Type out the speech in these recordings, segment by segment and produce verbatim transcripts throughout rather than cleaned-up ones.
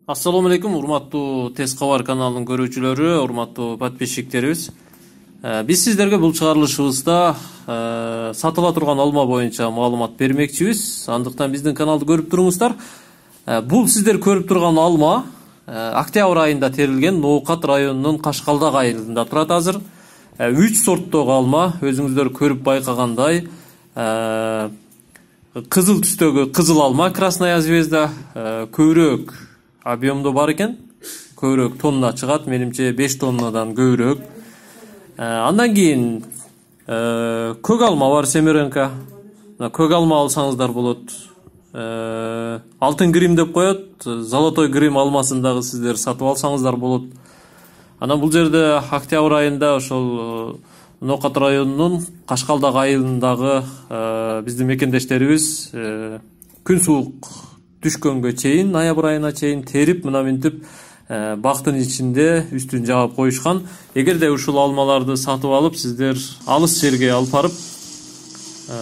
Ассаламу алейкум, урматтуу Тез кабар каналынын көрүүчүлөрү, урматтуу подписчиктерибиз. Биз сиздерге бул чыгарылышыбызда сатыла турган алма боюнча маалымат бермекчибиз. Андыктан биздин каналды көрүп туруңуздар. Бул сиздер көрүп турган алма октябрь айында терилген Ноокат районунун Кашкалдак айылында турат азыр. үч сорттогу алма, өзүңүздөр көрүп байкагандай, кызыл түстөгү кызыл алма, красная звезда, көбүрөөк объемдо бар экен, көбүрөөк тонна чыгат, менимче беш тоннадан көбүрөөк. Андан кийин көк алма бар, Семеренко. Көк алма алсаңыздар болот. Алтын грим деп коет, золотой грим алмасын дагы сиздер сатып алсаңыздар болот. Анан бул жерде октябрь айында ошол Ноокат районунун Кашкалдак айылындагы биздин мекендештерибиз күн суук түшкөнгө чейин, ноябрь айына чейин терип, мына минтип бактын ичинде үстүн жаап коюшкан. Эгерде ушул алмаларды сатып алып, сиздер алыс жерге алып барып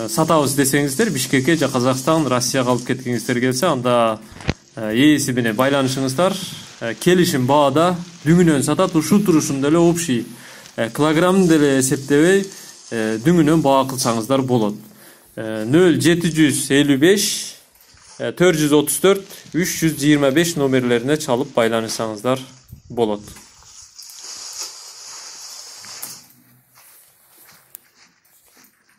сатабыз десеңиздер, Бишкекке же Казакстан, Россияга алып кеткиңиздер келсе, анда ээси менен байланышыңыздар. Келишим баада дүңүнөн сатат, ушул турушунда эле общий килограммын деле эсептебей дүңүнөн баа кылсаңыздар болот. нөл жети жүз элүү беш төрт жүз отуз төрт үч жүз жыйырма беш номерлерине чалып байланышсаңыздар болот.